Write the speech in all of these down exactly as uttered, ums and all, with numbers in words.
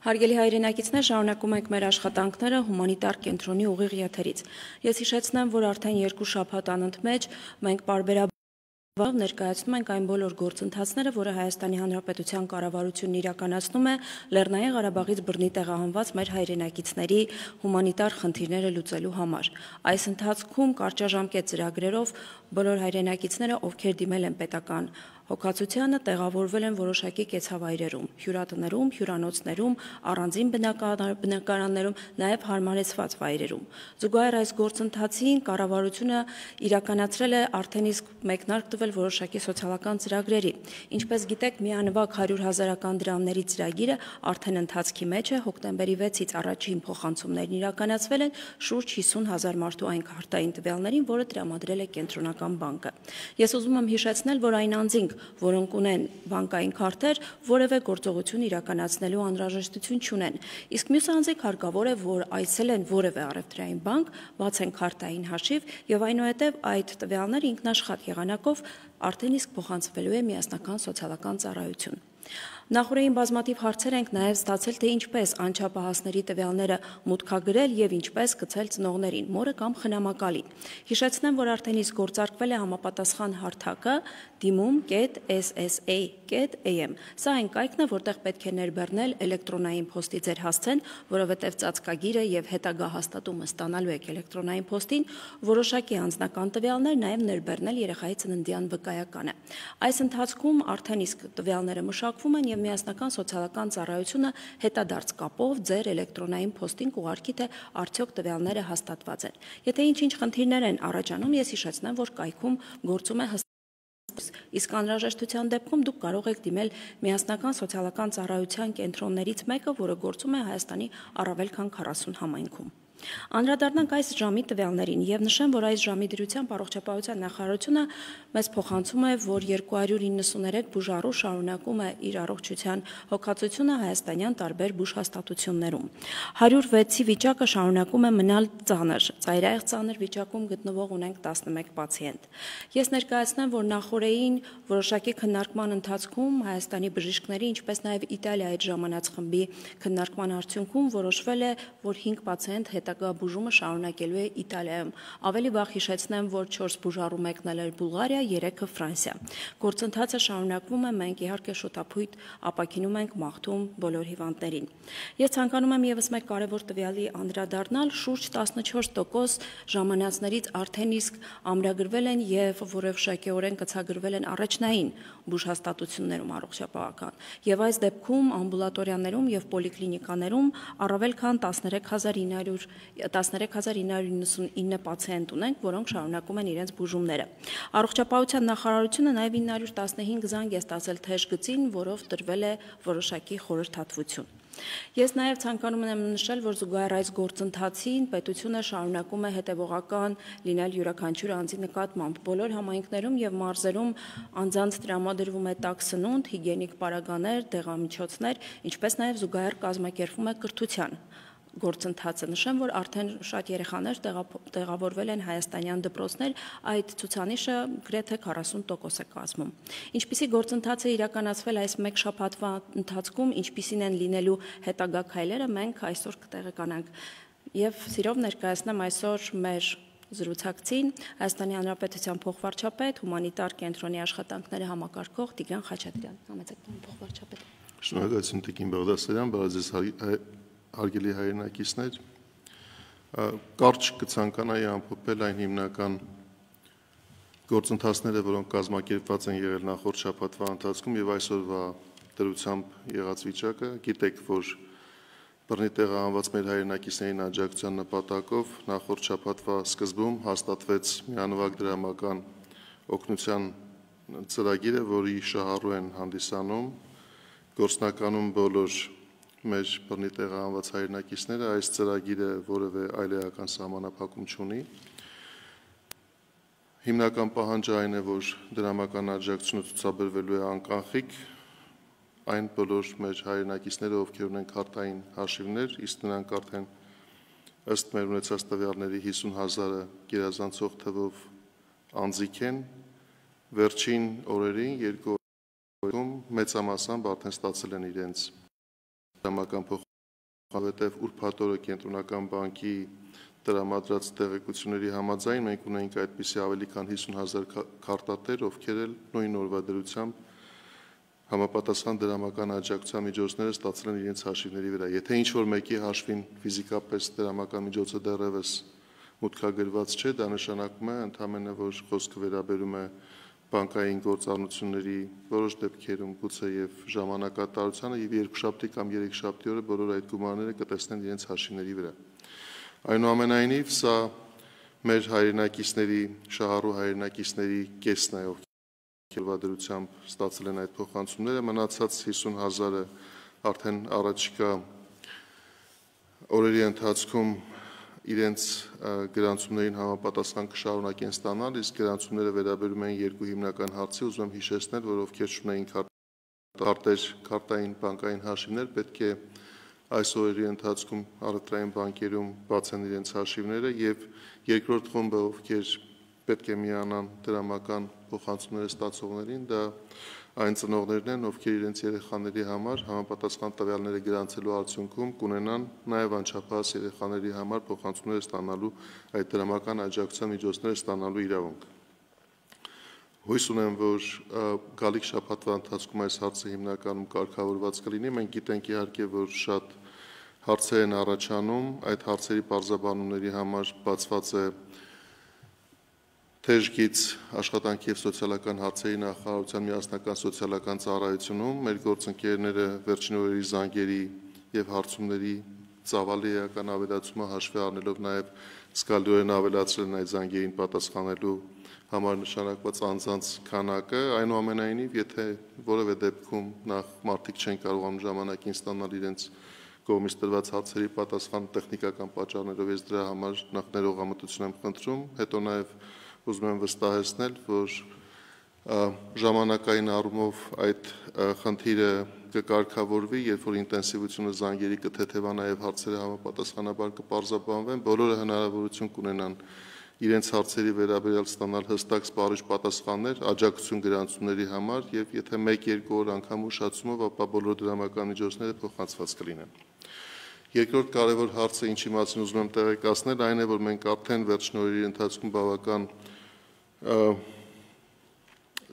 Հարգելի հայրենակիցներ, շարունակում ենք մեր աշխատանքները հումանիտար կենտրոնի ուղիղ եթերից։ Ես հիշեցնեմ, որ արդեն երկու շաբաթ անընդմեջ մենք պարբերաբար ներկայացնում ենք այն բոլոր գործընթացները, որը Հայաստանի Հանրապետության կառավարությունն իրականացնում է Լեռնային Ղարաբաղից բռնի տեղահանված մեր հայրենակիցների հումանիտար խնդիրները լուծելու համար։ Այս ընթացքում կարճաժամկետ ծրագրերով բոլոր հայրենակիցները, ովքեր դիմել են պետական հոգացությանը, տեղավորվել են որոշակի կեցավայրերում, հյուրատներում, հյուրանոցներում, առանձին բնակարաններում, նաև հարմարեցված վայրերում։ Զուգահեռ այս գործընթացին կառավարությունը իրականացրել է արդեն իսկ մեկնարկ տվել որոշակի սոցիալական ծրագրերի։ Ինչպես գիտեք, միանվագ հարյուր հազարական դրամների ծրագիրը արդեն ընթացքի մեջ է, հոկտեմբերի վեցից առաջին փոխանցումներն իրականացվել են շուրջ հիսուն հազար մարդու այն քարտային տվյալներին, որը տրամադրել է Կենտրոնական բանկը։ Ես ուզում եմ հիշեցնել, որ այն անձինք, որոնք ունեն բանկային քարտեր, որևէ գործողություն իրականացնելու անհրաժեշտություն չունեն։ Իսկ մյուս անձինք հարկավոր է, որ այցելեն որևէ առևտրային բանկ, բացեն քարտային հաշիվ եւ այնուհետեւ այդ տվյալները ինքնաշխատ եղանակով արդեն իսկ փոխանցվելու է միասնական սոցիալական ծառայություն։ Նախորդին բազմաթիվ հարցեր ենք նաև ստացել, թե ինչպես անչափահասների տվյալները մուտքագրել եւ ինչպես գցել ծնողներին, մորը կամ խնամակալին։ Հիշեցնեմ, որ արդեն իսկ գործարկվել է համապատասխան հարթակը դիմում կետ էս էս էյ կետ էյ էմ։ Սա այն կայքն է, որտեղ պետք է ներբեռնել էլեկտրոնային փոստի ձեր հասցեն, որովհետև ծածկագիրը եւ հետագա հաստատումը ստանալու եք էլեկտրոնային փոստին, որոշակի անձնական տվյալներ, նաև ներբեռնել երեխայի ծննդյան վկայականը։ Այս ընթացքում արդեն իսկ տվյալները մշակվում են եւ միասնական սոցիալական ծառայությունը հետադարձ կապով ձեր էլեկտրոնային փոստին կուղարկի, թե արդյոք տվյալները հաստատված են։ Եթե ինչ-ինչ խնդիրներ են առաջանում, ես հիշեցնեմ, որ կայքում գործում է իսկ անհրաժեշտության դեպքում դուք կարող եք դիմել միասնական սոցիալական ծառայության կենտրոններից մեկը, որը գործում է Հայաստանի առավել քան քառասուն համայնքում։ Անդրադառնանք այս ժամի տվյալներին եւ նշեմ, որ այս ժամի դրությամբ առողջապահության նախարարությունը մեզ փոխանցում է, որ երկու հարյուր իննսուներեք բուժառու շարունակում է իր առողջության հոգացությունը հայաստանյան տարբեր բուժհաստատություններում։ հարյուր վեցի վիճակը շարունակում է մնալ ծանր, ծայրահեղ ծանր վիճակում գտնվող ունենք տասնմեկ պացիենտ։ Ես ներկայացնեմ, որ նախորդին որոշակի քննարկման ընթացքում Հայաստանի բժիշկների, ինչպես նաև Իտալիայի այդ ժամանած խմբի քննարկման արդյունքում որոշվել է, որ հինգ պացիենտ հետագա բուժումը շարունակելու է Իտալիայում։ Ավելի վաղ հիշեցնեմ, որ չորս բուժառու մեկնել էր Բուլղարիա, երեքը Ֆրանսիա։ Գործընթացը շարունակվում է, մենք իհարկե շուտապույտ ապաքինում ենք մաղթում բոլոր հիվանդներին։ Ես ցանկանում եմ եւս մեկ կարևոր տվյալի անդրադառնալ, շուրջ տասնչորս տոկոս ժամանածներից արդեն իսկ ամրագրվել են եւ որոշակիորեն կցագրվել են առաջնային բուժհաստատություններում առողջապահական։ Եվ այս դեպքում ամբուլատորիաներում եւ պոլիկլինիկաներում առավել քան տասներեք հազար ինը հարյուր իննսունինը պացիենտ ունենք, որոնք շարունակում են իրենց բուժումները։ Առողջապահության նախարարությունը նաև ինը հարյուր տասնհինգ զանգ է ստացել թեժ գծին, որով տրվել է որոշակի խորհրդատվություն։ Ես նաև ցանկանում եմ նշել, որ զուգահեռ այս գործընթացին պետությունը շարունակում է հետևողական լինել յուրաքանչյուր անձի նկատմամբ։ Բոլոր համայնքներում եւ մարզերում անձանց տրամադրվում է տաք սնունդ, հիգիենիկ պարագաներ, դեղամիջոցներ, ինչպես նաև զուգահեռ կազմակերպվում է կրթության գործընթացը։ Նշեմ, որ արդեն շատ երեխաներ տեղավորվել են հայաստանյան դպրոցներ, այդ ցուցանիշը գրեթե քառասուն տոկոս է կազմում։ Ինչպիսի գործընթաց է իրականացվել այս մեկ շաբաթվա ընթացքում, ինչպիսին են լինելու հետագա քայլերը, մենք այսօր կտեղեկանանք։ Եվ սիրով ներկայացնեմ այսօր մեր զրուցակցին Հայաստանի Հանրապետության փոխվարչապետ, հումանիտար կենտրոնի աշխատանքները համակարգող Տիգրան Խաչատրյան։ Համեցեք փոխվարչապետ։ Շնորհակալություն Տիկին Բաղդասարյան, բարեզես հարգելի հայրենակիցներ, կարճ կցանկանայի ամփոփել այն հիմնական գործընթացները, որոնք կազմակերպված են եղել նախորդ շաբաթվա ընթացքում եւ այսօրվա դրությամբ եղած վիճակը։ Գիտեք, որ բռնի տեղահանված մեր հայրենակիցներին աջակցության նպատակով նախորդ շաբաթվա սկզբում հաստատվեց միանվագ դրամական օգնության ծրագիրը, որի շահառու են հանդիսանում գործնականում բոլոր մեր բռնի տեղահանված հայրենակիցները։ Այս ծրագիրը որևէ այլեական սահմանափակում չունի։ Հիմնական պահանջը այն է, որ դրամական աջակցությունը ցուցաբերվելու է անկանխիկ այն բոլոր մեր հայրենակիցները, ովքեր ունեն քարտային հաշիվներ, իսկ նրանք արդեն ըստ մեր ունեցած տվյալների հիսուն հազարը գերազանցող թվով անձիկ են։ Վերջին օրերին երկու օրում մեծամասամբ արդեն ստացել են իրենց դրամական որովհետև ուրբաթ օրը կենտրոնական բանկի տրամադրած տեղեկությունների համաձայն մենք ունենք այդպիսի ավելի քան հիսուն հազար քարտատեր, ովքեր էլ նույն օրվա դրությամբ համապատասխան դրամական աջակցության միջոցները ստացել են իրենց հաշիվների վրա։ Եթե ինչ-որ մեկի հաշվին ֆիզիկապես դրամական միջոցը դեռևս մուտքագրված չէ, դա նշանակում է ընդհանրապես, որ խոսքը վերաբերում է բանկային գործառնությունների որոշ դեպքերում գուցե եւ ժամանակատարությանը եւ երկուշաբթի կամ երեքշաբթի օրը բոլոր այդ գումարները կտեսնեն իրենց հաշիվների վրա։ Այնուամենայնիվ, սա մեր հայրենակիցների, շահառու հայրենակիցների կեսն է, ովքեր վադրությամբ ստացել են այդ փոխանցումները, մնացած հիսուն հազարը արդեն առաջիկա օրերի ընթացքում իրենց գրանցումներին համապատասխան կշարունակեն ստանալ, իսկ գրանցումները վերաբերում են երկու հիմնական հարցի, ուզում եմ հիշեցնել, որ ովքեր չունեին քարտեր, քարտային բանկային հաշիվներ, պետք է այս օրերի ընթացքում առևտրային բանկերում բացեն իրենց հաշիվները եւ երկրորդ խումբը, ովքեր պետք է միանան դրամական փոխանցումները ստացողներին, դա այն ծնողներն են, ովքեր իրենց երեխաների համար համապատասխան տվյալները գրանցելու արդյունքում կունենան նաև անչափահաս երեխաների համար փոխանցումներ ստանալու այդ դրամական աջակցության միջոցները ստանալու իրավունք։ Հույս ունեմ, որ գալիք շաբաթվա ընթացքում այս հարցը հիմնականում կարգավորված կլինի։ Մենք գիտենք իհարկե, որ շատ հարցեր են առաջանում, այդ հարցերի պարզաբանումների համար բացված է Թեժգից աշխատանքի եւ սոցիալական հարցերի նախարարության միասնական սոցիալական ծառայությունում մեր գործընկերները վերջին օրերի զանգերի եւ հարցումների ծավալի էական ավելացումը հաշվի առնելով նաեւ զգալիորեն ավելացրել են այդ զանգերին պատասխանելու համար նշանակված անձանց քանակը, այնուամենայնիվ, եթե որևէ դեպքում նախ մարդիկ չեն կարողանում ժամանակին ստանալ իրենց կողմից տրված հարցերի պատասխան տեխնիկական պատճառներով, ես դրա համար նախ ներողամտություն եմ խնդրում, հետո նաեւ ուզում եմ վստահեցնել, որ ժամանակային առումով այդ խնդիրը կկարգավորվի, երբ որ ինտենսիվությունը զանգերի կթեթևանա եւ հարցերը համապատասխանաբար կպարզաբանվեն, բոլորը հնարավորություն կունենան իրենց հարցերի վերաբերյալ ստանալ հստակ սպառիչ պատասխաններ աջակցություն գրանցումների համար եւ եթե մեկ-երկու օր անգամ ուշացումով, ապա բոլոր դրամական միջոցները փոխանցված կլինեն։ Երկրորդ կարևոր հարցը, ինչի մասին ուզում եմ տեղեկացնել, այն է, որ մենք արդեն վերջին օրերի ընթացքում բավական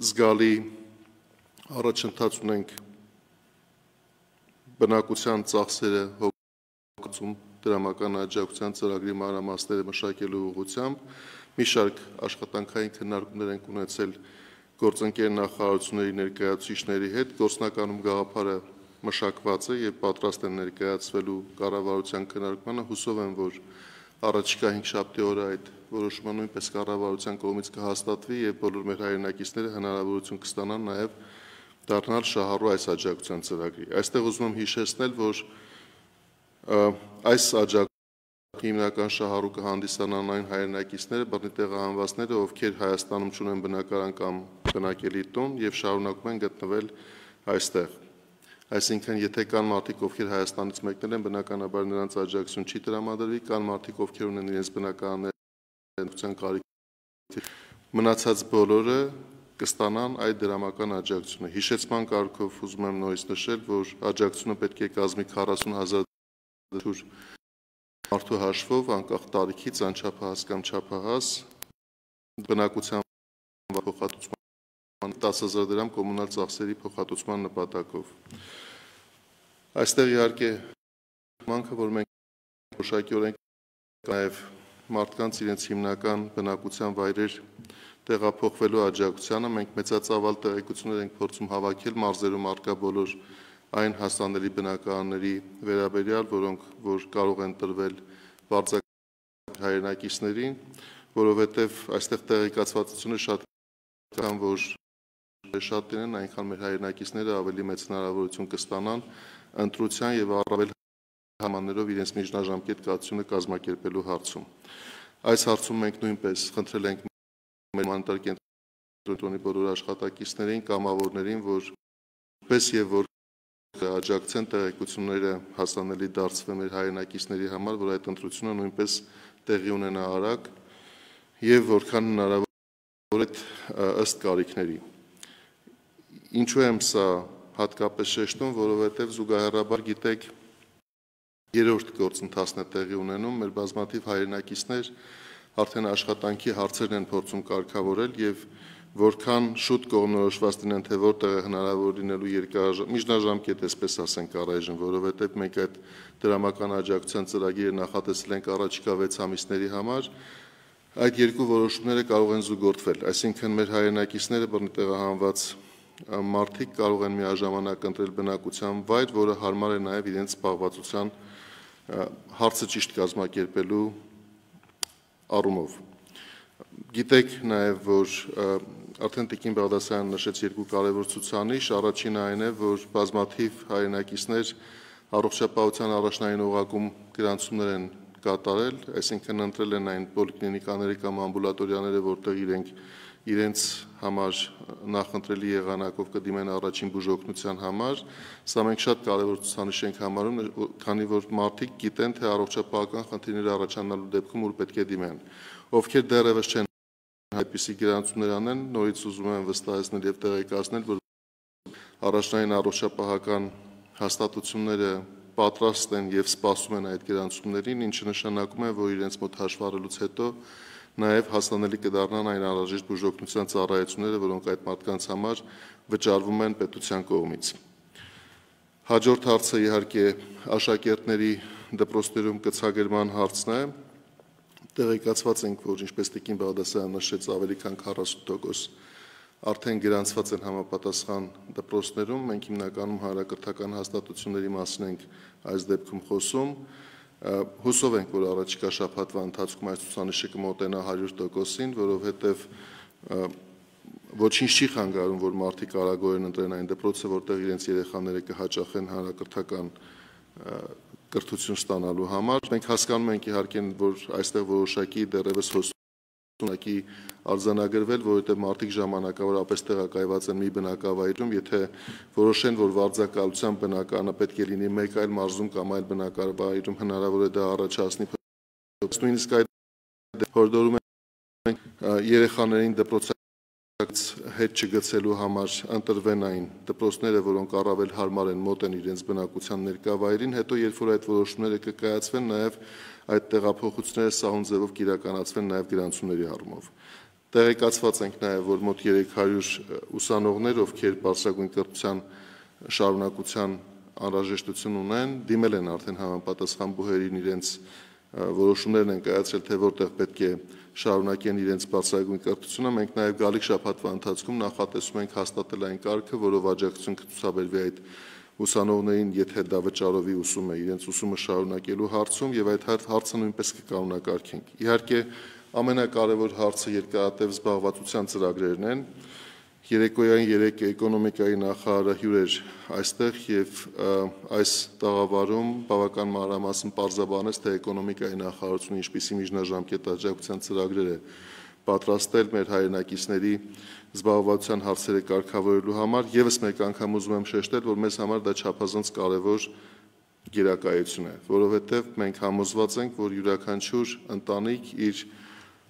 զգալի առաջընթաց ունենք բնակության ծախսերը հոգացում դրամական աջակցության ծրագրի մանրամասները մշակելու ուղղությամբ մի շարք աշխատանքային քննարկումներ են ունեցել գործընկեր նախարարությունների ներկայացուցիչների հետ, գործնականում գաղափարը մշակված է եւ պատրաստ են ներկայացվելու կառավարության քննարկմանը, հուսով եմ, որ առաջիկա հինգշաբթի օրը այդ որոշումը նույնպես կառավարության կողմից կհաստատվի եւ բոլոր մեր հայրենակիցները հնարավորություն կստանան նաեւ դառնալ շահառու այս աջակցության ծրագրի։ Այստեղ ուզում եմ հիշեցնել, որ այս աջակցության հիմնական շահառու կհանդիսանան այն հայրենակիցները, բռնի տեղահանվածները, ովքեր Հայաստանում չունեն բնակարան կամ բնակելի տուն եւ շարունակում են գտնվել այստեղ։ Այսինքն, եթե կան մարդիկ, ովքեր Հայաստանից մեկնել են, բնականաբար նրանց աջակցություն չի տրամադրվի, կան մարդիկ, ովքեր ունեն իրենց բնակարաններ կարիք, մնացած բոլորը կստանան այդ դրամական աջակցությունը։ Հիշեցման կարգով ուզում եմ նորից նշել, որ աջակցությունը պետք է կազմի քառասուն հազար մարդու հաշվով, անկախ տարիքից, անչափահաս կամ չափահաս, բնակության փոխհատուցման տասը հազար դրամ կոմունալ ծախսերի փոխհատուցման նպատակով։ Այստեղ իհարկե մանքը, որ մենք որոշակիորեն նաև մարդկանց իրենց հիմնական բնակության վայրեր տեղափոխվելու աջակցությանը մենք մեծածավալ տեղեկություններ ենք փորձում հավաքել մարզերում առկա բոլոր այն հասանելի բնակարանների վերաբերյալ, որոնք որ կարող են տրվել բարձրակարգ հայրենակիցներին, որովհետև այստեղ տեղեկացվածությունը շատ քան որ շատ դեն այնքան մեր հայրենակիցները ավելի մեծ հնարավորություն կստանան ընտրության եւ առավել համաններով իրենց միջնաժամկետ կացությունը կազմակերպելու հարցում։ Այս հարցում մենք նույնպես խնդրել ենք մեր մանտար կենտրոնի բոլոր աշխատակիցներին, կամավորներին, որ պես եւ որ աջակցեն տեղեկությունները հասանելի դարձվեն մեր հայրենակիցների համար, որ այդ ընտրությունը նույնպես տեղի ունենա արագ եւ որքան հնարավոր է ըստ կարիքների։ Ինչու եմ սա հատկապես շեշտում, որովհետև զուգահեռաբար գիտեք երրորդ գործընթացն է տեղի ունենում, մեր բազմաթիվ հայրենակիցներ արդեն աշխատանքի հարցերն են փորձում կարգավորել եւ որքան շուտ կողմնորոշված լինեն, թե որտեղ է հնարավոր լինելու երկարաժամ միջնաժամկետ, այսպես ասենք, առայժմ, որովհետեւ մենք այդ դրամական աջակցության ծրագիրը նախատեսել ենք առաջիկա վեց ամիսների համար, այդ երկու որոշումները կարող են զուգորդվել, այսինքն մեր հայրենակիցները բռնի տեղահանված մարդիկ կարող են միաժամանակ ընտրել բնակության վայր, որը հարմար է նաև իրենց զբաղվածության հարցը ճիշտ կազմակերպելու առումով։ Գիտեք նաև, որ արդեն Տիկին Բաղդասարյանը նշեց երկու կարևոր ցուցանիշ, առաջինը այն է, որ բազմաթիվ հայրենակիցներ առողջապահության առաջնային օղակում գրանցումներ են կատարել, այսինքն ընտրել են այն պոլիկլինիկաները կամ ամբուլատորիաները, որտեղ իրենք իրենց համար նախընտրելի եղանակով կդիմեն առաջին բուժօգնության համար, սա մենք շատ կարևոր ցուցանիշ ենք համարում, քանի որ մարդիկ գիտեն, թե առողջապահական խնդիրներ առաջանալու դեպքում ուր պետք է դիմեն։ Ովքեր դեռևս չեն այդպիսի գրանցումներ անեն, նորից ուզում եմ վստահեցնել եւ տեղեկացնել, որ առաջնային առողջապահական հաստատությունները պատրաստ են եւ սպասում են այդ գրանցումներին, ինչը նշանակում է, որ իրենց մոտ հաշվառելուց հետո նաև հասանելի կդառնան այն անհրաժեշտ բուժօգնության ծառայությունները, որոնք այդ մարդկանց համար վճարվում են պետության կողմից։ Հաջորդ հարցը իհարկե աշակերտների դպրոցներում կցագերման հարցն է։ Տեղեկացված ենք, որ ինչպես Տիկին Բաղդասարյանը նշեց, ավելի քան քառասուն տոկոս արդեն գրանցված են համապատասխան դպրոցներում, մենք հիմնականում հանրակրթական հաստատությունների մասին ենք այս դեպքում խոսում։ Հուսով ենք, որ առաջիկա շաբաթվա ընթացքում այս ցուցանիշը կմոտենա հարյուր տոկոսին, որովհետև ոչինչ չի խանգարում, որ մարդիկ արագորեն ընտրեն այն դպրոցը, որտեղ իրենց երեխաները կհաճախեն հանրակրթական կրթություն ստանալու համար։ Մենք հասկանում ենք իհարկե, որ այստեղ որոշակի դեռևս հոսունակի արձանագրվել, որովհետև մարդիկ ժամանակավորապես տեղակայված են մի բնակավայրում, եթե որոշեն, որ վարձակալության բնականը պետք է լինի մեկ այլ մարզում կամ այլ բնակավայրում, հնարավոր է դա առաջացնի նույնիսկ այդ հորդորում են երեխաներին դպրոցից հետ չգցելու համար ընտրվեն այն դպրոցները, որոնք առավել հարմար են, մոտ են իրենց բնակության ներկայավայրին, հետո երբ որ այդ որոշումները կկայացվեն, նաև այդ տեղափոխությունները սահուն ձևով կիրականացվեն նաև գրանցումների առումով։ Տեղեկացված ենք նաև, որ մոտ երեք հարյուր ուսանողներ, ովքեր բարձրագույն կրթության շարունակության անհրաժեշտություն ունեն, դիմել են արդեն համապատասխան բուհերին, իրենց որոշումներն են կայացրել, թե որտեղ պետք է շարունակեն իրենց բարձրագույն կրթությունը։ Մենք նաև գալիք շաբաթվա ընթացքում նախատեսում ենք հաստատել այն կարգը, որով աջակցություն կցուցաբերվի այդ ուսանողներին, եթե դա վճարովի ուսում է, իրենց ուսումը շարունակելու հարցում, եւ այդ հարցը նույնպես կկանոնակարգենք։ Իհարկե, ամենակարևոր հարցը երկարատև զբաղվածության ծրագրերն են։ Երեկոյան երեք էկոնոմիկայի նախարարը հյուր էր այստեղ եւ այս տաղավարում բավական մանրամասն պարզաբանեց, թե էկոնոմիկայի նախարարությունը ինչպիսի միջնաժամկետ աջակցության ծրագրեր է պատրաստել մեր հայրենակիցների զբաղվածության հարցերը կարգավորելու համար։ Եվս մեկ անգամ ուզում եմ շեշտել, որ մեզ համար դա չափազանց կարևոր գերակայություն է, որովհետեւ մենք համոզված ենք, որ յուրաքանչյուր ընտանիք իր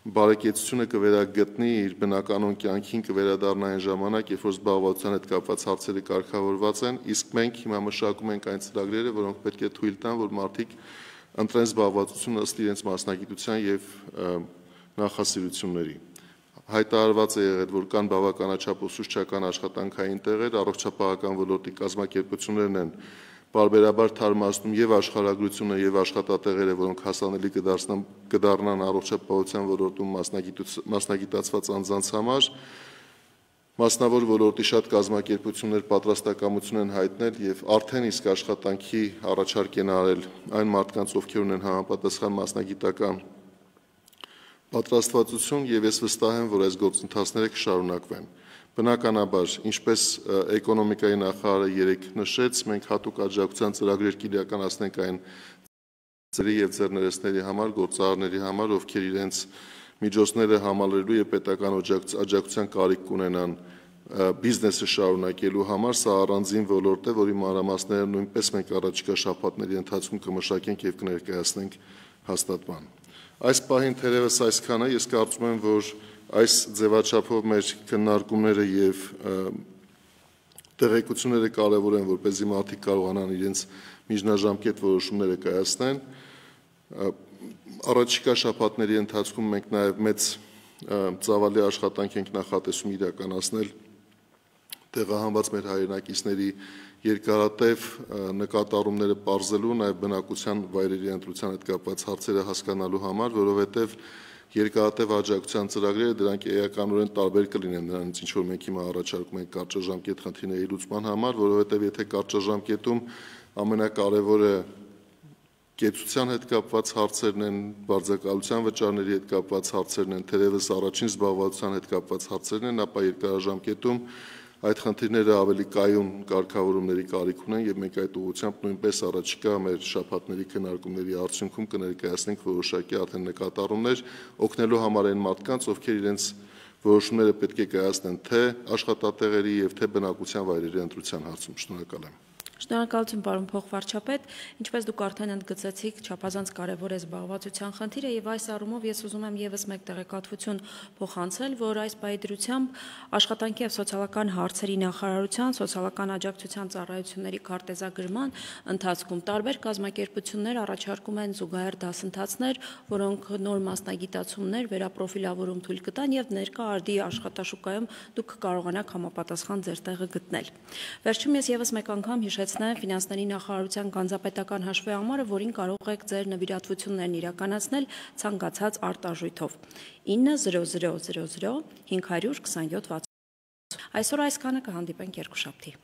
բարեկեցությունը կվերագտնի, իր բնականոն կյանքին կվերադառնա այն ժամանակ, երբ որ զբաղվածության հետ կապված հարցերը կարգավորված են, իսկ մենք հիմա մշակում ենք այն ծրագրերը, որոնք պետք է թույլ տան, որ մարդիկ ընտրեն զբաղվածություն ըստ իրենց մասնագիտության եւ նախասիրությունների։ Հայտարարված է եղել, որ կան բավականաչափ ուսուցչական աշխատանքային տեղեր, առողջապահական ոլորտի կազմակերպություններն են բարբերաբար թարմացնում եւ աշխարհագրությունը եւ աշխատատեղերը, որոնք հասանելի կդարձնան կդառնան առողջապահության ոլորտում մասնագիտացված անձանց համար, մասնավոր ոլորտի շատ կազմակերպություններ պատրաստակամություն են հայտնել եւ արդեն իսկ աշխատանքի առաջարկ են արել այն մարդկանց, ովքեր ունեն համապատասխան մասնագիտական պատրաստվածություն, եւ ես վստահ եմ, որ այս գործընթացները կշարունակվեն։ Բնականաբար, ինչպես էկոնոմիկայի նախարարը երեք նշեց, մենք հատուկ աջակցության ծրագրեր կիրականացնենք այն ծերի եւ ձեռներեցների համար, գործարարների համար, ովքեր իրենց միջոցները համալրելու եւ պետական աջակցության կարիք կունենան բիզնեսը շարունակելու համար, սա առանձին ոլորտ է, որի մանրամասները նույնպես մենք առաջիկա շաբաթների ընթացքում կմշակենք եւ կներկայացնենք հաստատման։ Այս պահին թերևս այսքանը, ես կարծում եմ, որ այս ձևաչափով մեր քննարկումները եւ տեղեկությունները կարևոր են, որպեսզի մարդիկ կարողանան իրենց միջնաժամկետ որոշումները կայացնեն։ Առաջիկա շաբաթների ընթացքում մենք նաև մեծ ծավալի աշխատանք ենք նախատեսում իրականացնել տեղահանված մեր հայրենակիցների երկարատև նկատառումները պարզելու, նաև բնակության վայրերի ընտրության հետ կապված հարցերը հասկանալու համար, որովհետև երկարատև աջակցության ծրագրերը դրանք էականորեն տարբեր կլինեն նրանից, ինչ որ մենք հիմա առաջարկում ենք կարճաժամկետ խնդիրների լուծման համար, որովհետև եթե կարճաժամկետում ամենակարևորը կեցության հետ կապված հարցերն են, բարձրակալության վճարների հետ կապված հարցերն են, թերևս առաջին զբաղվածության հետ կապված հարցերն են, ապա երկարաժամկետում այդ խնդիրները ավելի կայուն կարգավորումների կարիք ունեն եւ մենք այդ ուղղությամբ նույնպես առաջիկա մեր շաբաթների քննարկումների արդյունքում կներկայացնենք որոշակի արդեն նկատառումներ օգնելու համար այն մարդկանց, ովքեր իրենց որոշումները պետք է կայացնեն թե աշխատատեղերի եւ թե բնակության վայրերի ընտրության հարցում։ Շնորհակալ եմ։ Շնորհակալություն, պարոն փոխվարչապետ, ինչպես դուք արդեն ընդգծեցիք, չափազանց կարևոր է զբաղվածության խնդիրը եւ այս առումով ես ուզում եմ եւս մեկ տեղեկատվություն փոխանցել, որ այս պայդրությամբ աշխատանքի եւ սոցիալական հարցերի նախարարության սոցիալական աջակցության ծառայությունների քարտեզագրման ընթացքում տարբեր կազմակերպություններ առաջարկում են զուգահեռ դասընթացներ, որոնք նոր մասնագիտացումներ, վերապրոֆիլավորում թույլ կտան եւ ներկա արդի աշխատաշուկայում դուք կարողանաք համապատասխան ձեր տեղը գտնել։ Վերջում ես եւս մեկ անգամ հիշեցնեմ ֆինանսների նախարարության գանձապետական հաշվի համարը, որին կարող եք ձեր նվիրատվություններն իրականացնել ցանկացած արտարժույթով ինը զրո զրո զրո զրո հինգ հարյուր քսանյոթ վաթսուն։ Այսօր այսքանը, կհանդիպենք երկուշաբթի։